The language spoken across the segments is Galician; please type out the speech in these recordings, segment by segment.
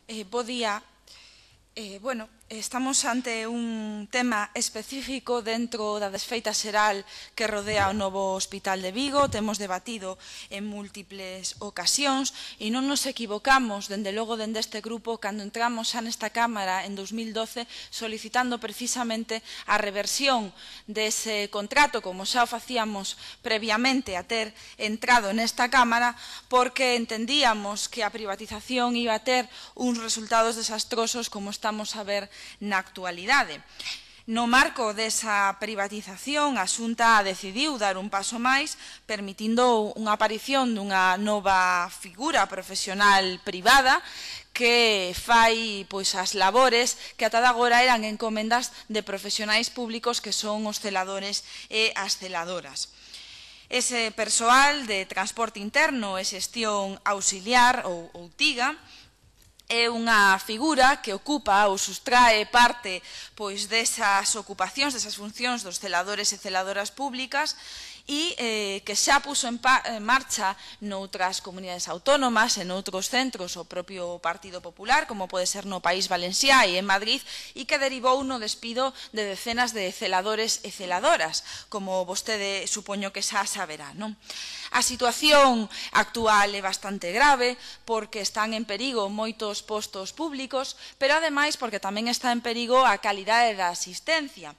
Bo día. Estamos ante un tema específico dentro da desfeita xeral que rodea o novo Hospital de Vigo. Temos debatido en múltiples ocasións e non nos equivocamos, dende logo, dende este grupo, cando entramos xa nesta Cámara en 2012 solicitando precisamente a reversión dese contrato, como xa o facíamos previamente a ter entrado nesta Cámara, porque entendíamos que a privatización iba a ter uns resultados desastrosos como estamos a ver na actualidade. No marco desa privatización, a Xunta decidiu dar un paso máis, permitindo unha aparición dunha nova figura profesional privada que fai as labores que ata agora eran encomendas de profesionais públicos que son os celadores e as celadoras. Ese persoal de transporte interno e xestión auxiliar ou TIGA é unha figura que ocupa ou sustrae parte desas ocupacións, desas funcións dos celadores e celadoras públicas e que xa puso en marcha noutras comunidades autónomas e noutros centros o propio Partido Popular, como pode ser no País Valenciá e en Madrid, e que derivou no despido de decenas de celadores e celadoras, como vostede supoño que xa saberá, non? A situación actual é bastante grave porque están en perigo moitos postos públicos, pero ademais porque tamén está en perigo a calidade da asistencia.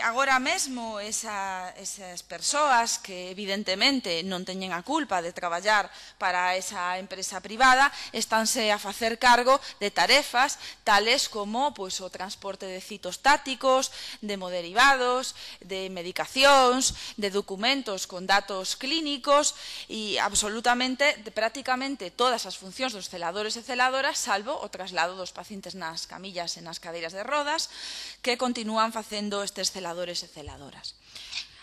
Agora mesmo esas persoas que evidentemente non teñen a culpa de traballar para esa empresa privada estánse a facer cargo de tarefas tales como o transporte de citostáticos, de hemoderivados, de medicacións, de documentos con datos clínicos e absolutamente, prácticamente todas as funcións dos celadores e celadoras, salvo o traslado dos pacientes nas camillas e nas cadeiras de rodas, que continúan facendo estes celadores e celadoras.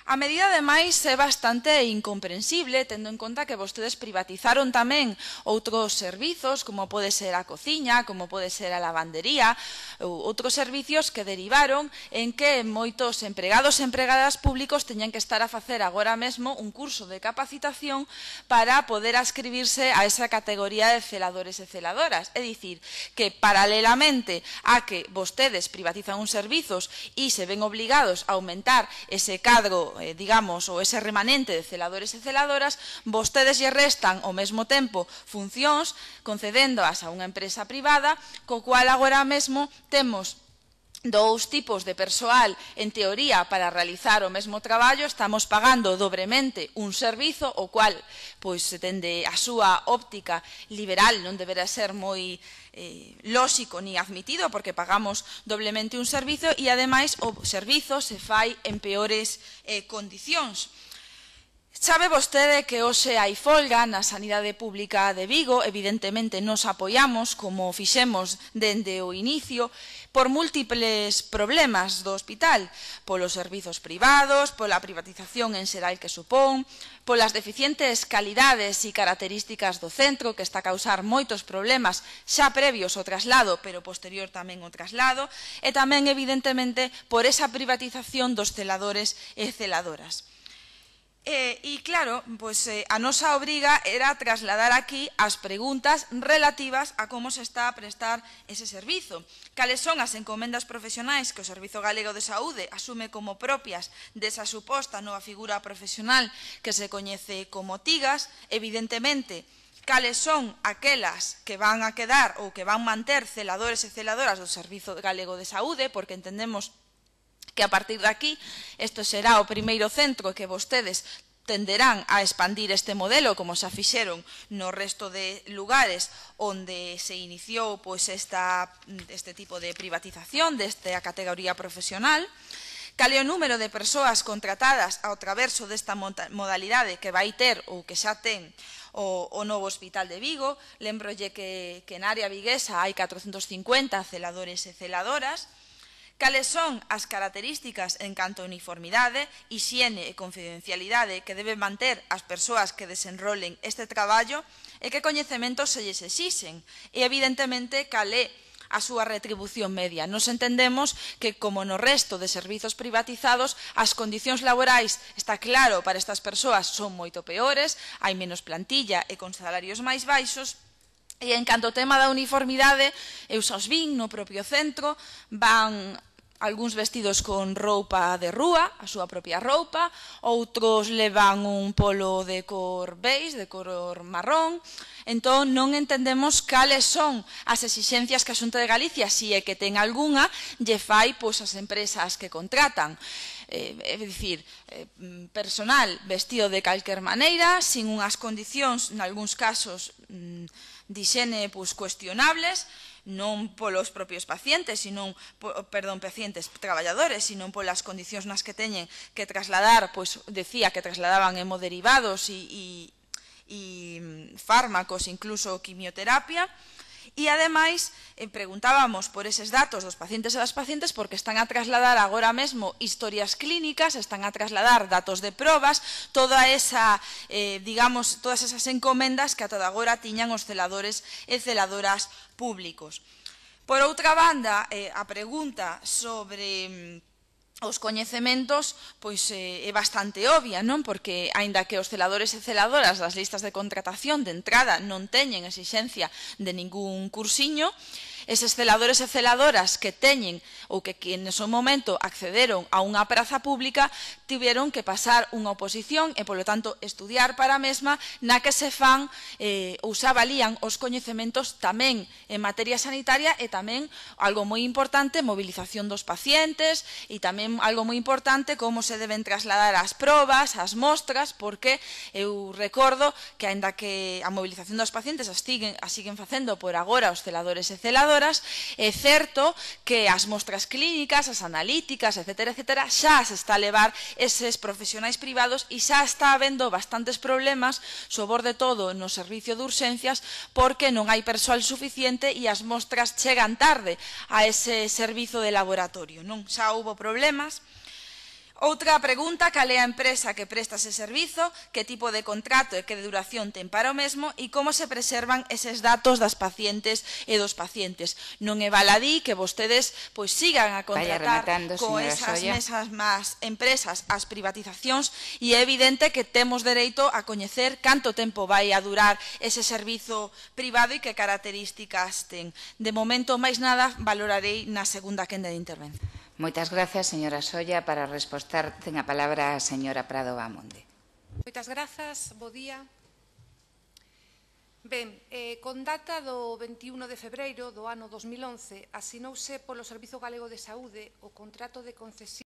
A medida, ademais, é bastante incomprensible, tendo en conta que vostedes privatizaron tamén outros servizos, como pode ser a cociña, como pode ser a lavandería, ou outros servicios que derivaron en que moitos empregados e empregadas públicos teñan que estar a facer agora mesmo un curso de capacitación para poder ascribirse a esa categoría de celadores e celadoras. É dicir, que paralelamente a que vostedes privatizan uns servizos e se ven obligados a aumentar ese cadro digamos, ou ese remanente de celadores e celadoras, vostedes lle restan ao mesmo tempo funcións concedéndoas a unha empresa privada, co cual agora mesmo temos dous tipos de persoal, en teoría, para realizar o mesmo traballo. Estamos pagando dobremente un servizo, o cual, dende a súa óptica liberal, non deberá ser moi lóxico ni admitido, porque pagamos doblemente un servizo e, ademais, o servizo se fai en peores condicións. Sabe vostede que hoxe hai folga na sanidade pública de Vigo. Evidentemente nos apoiamos, como fixemos dende o inicio, por múltiples problemas do hospital, polos servizos privados, pola privatización en xeral que supón, polas deficientes calidades e características do centro, que está a causar moitos problemas xa previos ao traslado, pero posterior tamén ao traslado, e tamén, evidentemente, por esa privatización dos celadores e celadoras. E, claro, a nosa obriga era trasladar aquí as preguntas relativas a como se está a prestar ese servizo. Cales son as encomendas profesionais que o Servizo Galego de Saúde asume como propias desa suposta nova figura profesional que se coñece como TIGAs. Evidentemente, cales son aquelas que van a quedar ou que van manter celadores e celadoras do Servizo Galego de Saúde, porque entendemos que a partir de aquí isto será o primeiro centro que vostedes tenderán a expandir este modelo, como xa fixeron no resto de lugares onde se iniciou este tipo de privatización desta categoría profesional. Cal é o número de persoas contratadas ao traverso desta modalidade que vai ter ou que xa ten o novo Hospital de Vigo. Lembrolles que na área viguesa hai 450 celadores e celadoras. Cales son as características en canto a uniformidade, hixiene e confidencialidade que deben manter as persoas que desenrolen este traballo e que coñecementos se lles exixen. E, evidentemente, cal é a súa retribución media. Nos entendemos que, como no resto de servizos privatizados, as condicións laborais, está claro, para estas persoas son moito peores, hai menos plantilla e con salarios máis baixos, E en canto ao tema da uniformidade, eu xa os vin no propio centro, van algúns vestidos con roupa de rúa, a súa propia roupa, outros levan un polo de cor beige, de cor marrón. Entón, non entendemos cales son as exixencias que a Xunta de Galicia, se é que ten algunha, lle fai as empresas que contratan. É dicir, personal vestido de calquer maneira, sin unhas condicións, nalgúns casos, de hixene cuestionables, non polos propios pacientes, pacientes traballadores, sino polas condicións nas que teñen que trasladar, decía que trasladaban hemoderivados e fármacos, incluso quimioterapia. E, ademais, preguntábamos por eses datos dos pacientes e das pacientes porque están a trasladar agora mesmo historias clínicas, están a trasladar datos de probas, todas esas encomendas que ata agora tiñan os celadores e celadoras públicos. Por outra banda, a pregunta sobre os coñecementos é bastante obvia, non? Porque, aínda que os celadores e celadoras das listas de contratación de entrada non teñen exixencia de ningún cursiño, eses celadores e celadoras que teñen ou que en ese momento accederon a unha praza pública tiveron que pasar unha oposición e, polo tanto, estudiar para a mesma na que se fan ou se avalían os coñecementos tamén en materia sanitaria e tamén, algo moi importante, mobilización dos pacientes e tamén algo moi importante como se deben trasladar as probas, as mostras, porque eu recordo que, aínda que a mobilización dos pacientes a siguen facendo por agora os celadores e celadoras, é certo que as mostras clínicas, as analíticas, etcétera, xa se está a levar eses profesionais privados e xa está habendo bastantes problemas, sobre todo no servicio de urxencias, porque non hai persoal suficiente e as mostras chegan tarde a ese servizo de laboratorio. Xa houbo problemas. Outra pregunta, cal é a empresa que presta ese servizo, que tipo de contrato e que de duración ten para o mesmo e como se preservan eses datos das pacientes e dos pacientes. Non é baladí que vostedes sigan a contratar con esas mesmas empresas as privatizacións e é evidente que temos dereito a coñecer canto tempo vai a durar ese servizo privado e que características ten. De momento, máis nada, valorarei na segunda quenda de intervención. Moitas grazas, señora Solla. Para respostar, ten a palabra a señora Prado Bamonde. Moitas grazas, bo día. Ben, con data do 21 de febreiro do ano 2011, asinouse polo Servizo Galego de Saúde o contrato de concesión